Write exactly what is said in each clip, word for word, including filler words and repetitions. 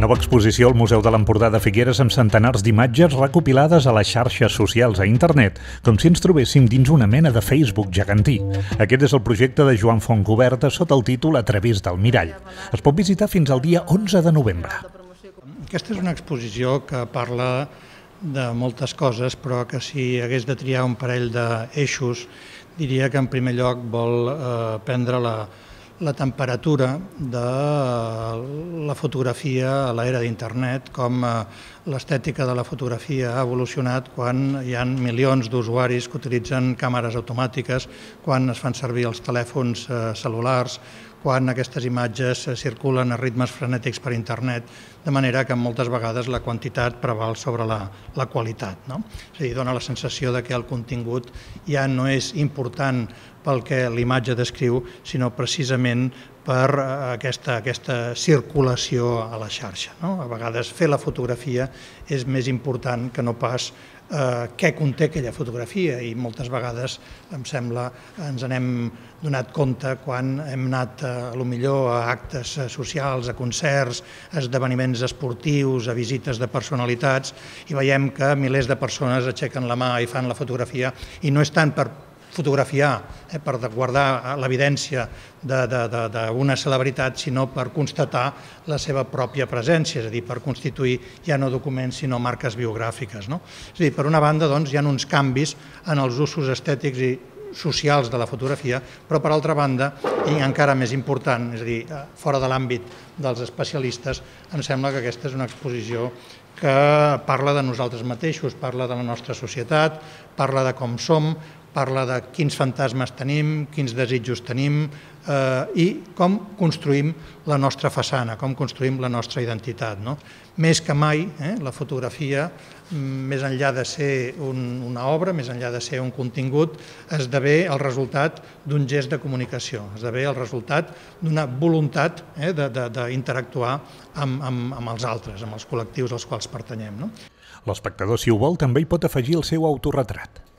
Nova exposició al Museu de l'Empordà de Figueres amb centenars d'imatges recopilades a les xarxes socials a internet, com si ens trobéssim dins una mena de Facebook gegantí. Aquest és el projecte de Joan Fontcoberta sota el títol A través del mirall. Es pot visitar fins al dia onze de novembre. Aquesta és una exposició que parla de moltes coses, però que si hagués de triar un parell d'eixos, diria que en primer lloc vol eh, prendre la, la temperatura de la fotografia a l'era d'internet, com eh, l'estètica de la fotografia ha evolucionat quan hi ha milions d'usuaris que utilitzen càmeres automàtiques, quan es fan servir els telèfons eh, cel·lulars, quan aquestes imatges circulen a ritmes frenètics per internet, de manera que moltes vegades la quantitat preval sobre la, la qualitat. No? És a dir, dona la sensació de que el contingut ja no és important pel que l'imatge descriu, sinó precisament per aquesta, aquesta circulació a la xarxa. No? A vegades fer la fotografia és més important que no pas eh, què conté aquella fotografia, i moltes vegades, em sembla, ens n'hem donat compte quan hem anat a, a lo millor a actes socials, a concerts, a esdeveniments esportius, a visites de personalitats, i veiem que milers de persones aixequen la mà i fan la fotografia, i no és tant per fotografiar, eh, per guardar l'evidència d'una celebritat, sinó per constatar la seva pròpia presència, és a dir, per constituir ja no documents sinó marques biogràfiques. No? És a dir, per una banda, doncs, hi ha uns canvis en els usos estètics i socials de la fotografia, però per altra banda, i encara més important, és a dir, fora de l'àmbit dels especialistes, em sembla que aquesta és una exposició que parla de nosaltres mateixos, parla de la nostra societat, parla de com som, parla de quins fantasmes tenim, quins desitjos tenim eh, i com construïm la nostra façana, com construïm la nostra identitat. No? Més que mai, eh, la fotografia, més enllà de ser un, una obra, més enllà de ser un contingut, esdevé el resultat d'un gest de comunicació, esdevé el resultat d'una voluntat eh, d'interactuar amb, amb, amb els altres, amb els col·lectius als quals pertanyem. No? L'espectador, si ho vol, també hi pot afegir el seu autorretrat.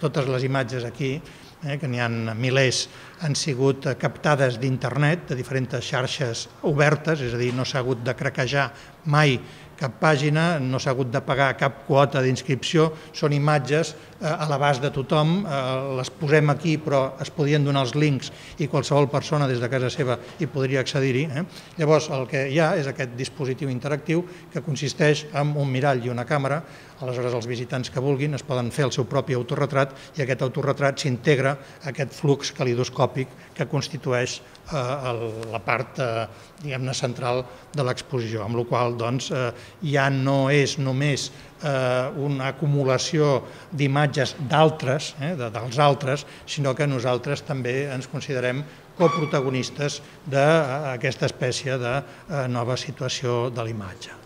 Totes les imatges aquí, eh, que n'hi ha milers, han sigut captades d'internet, de diferents xarxes obertes, és a dir, no s'ha hagut de craquejar mai cap pàgina, no s'ha hagut de pagar cap quota d'inscripció, són imatges eh, a l'abast de tothom, eh, les posem aquí però es podien donar els links i qualsevol persona des de casa seva hi podria accedir-hi. Eh? Llavors el que hi ha és aquest dispositiu interactiu que consisteix en un mirall i una càmera, aleshores els visitants que vulguin es poden fer el seu propi autorretrat i aquest autorretrat s'integra a aquest flux calidoscòpic que constitueix eh, el, la part eh, diguem-ne central de l'exposició, amb la qual doncs, eh, ja no és només eh, una acumulació d'imatges d'altres, eh, de, dels altres, sinó que nosaltres també ens considerem coprotagonistes d'aquesta espècie de eh, nova situació de l'imatge.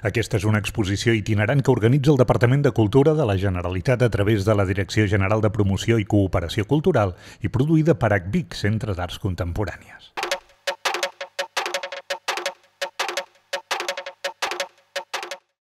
Aquesta és una exposició itinerant que organitza el Departament de Cultura de la Generalitat a través de la Direcció General de Promoció i Cooperació Cultural i produïda per A C V I C, Centre d'Arts Contemporànies.